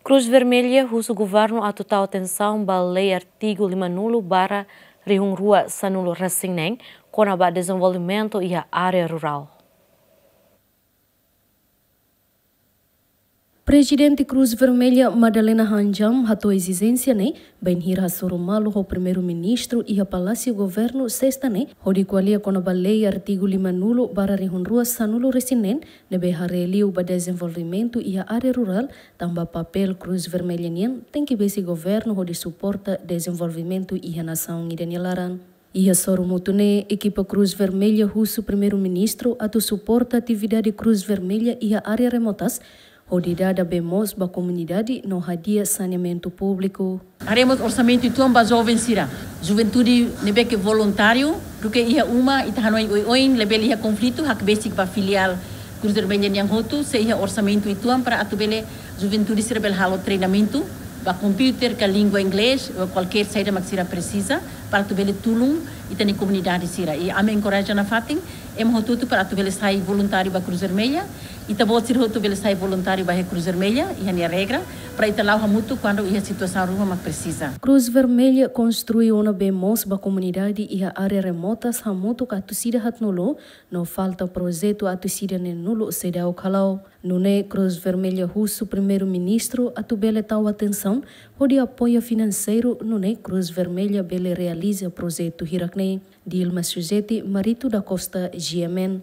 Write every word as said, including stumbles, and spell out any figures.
Cruz Vermelha husu governu atu tau atensaun ba lei artigu lima-nulu barra rihun rua sanulu-resin-neen kona-ba dezenvolvimentu iha área rurál. Prezidente Cruz Vermelha, Madalena Handjam, hato'o ezijénsia ne'e bainhira hasoru malu ho Primeiru-Ministru iha Palásiu Governu, Sesta ne'e, hodi ko'alia kona-ba lei artigu lima-nulu barra rihun rua sanulu-resin-neen, ne'ebé haree liu ba dezenvolvimentu iha área rurál, tanba papél Cruz Vermelha nian tenke besik governu hodi suporta dezenvolvimentu iha nasaun ida nia laran. Iha sorumutu ne'e, ekipa Cruz Vermelha husu Primeiru-Ministru atu suporta atividade Cruz Vermelha iha área remotas, hodi dada bee moos ba komunidade no hadi'a saneamentu públiku. Haree mós orsamentu uitoan ba joven sira. Juventude ne'ebé ke voluntáriu, duké iha uma, ita hanoin oioin, labele iha konflitu, hakbesik ba filiál Cruz Vermelha nian hotu, sei iha orsamentu uitoan para atu bele juventude sira bele halo treinamentu ba computer ka língua inglés, ou kualkér saida mak sira presiza, para atu bele tulun ita-nia komunidade sira. I ami enkoraja nafatin ema hotu-hotu para atu bele sai voluntáriu ba Cruz Vermelha. Ita-boot sira hotu bele sai voluntáriu ba iha Cruz Vermelha, iha nia regra, para ita la'o hamutuk kuandu iha situasaun ruma mak presiza. Cruz Vermelha konstrui ona bee moos ba komunidade iha área remotas hamutuk atus ida haatnulu, no falta projetu atus ida neenulu seidauk hala'o. Nune'e Cruz Vermelha husu Primeiru-Ministru atu bele tau atensaun hodi apoia finanseiru nune'e Cruz Vermelha bele realiza projetu hirak-ne'e. Dilma Suzeti, Marito da Costa, G M N.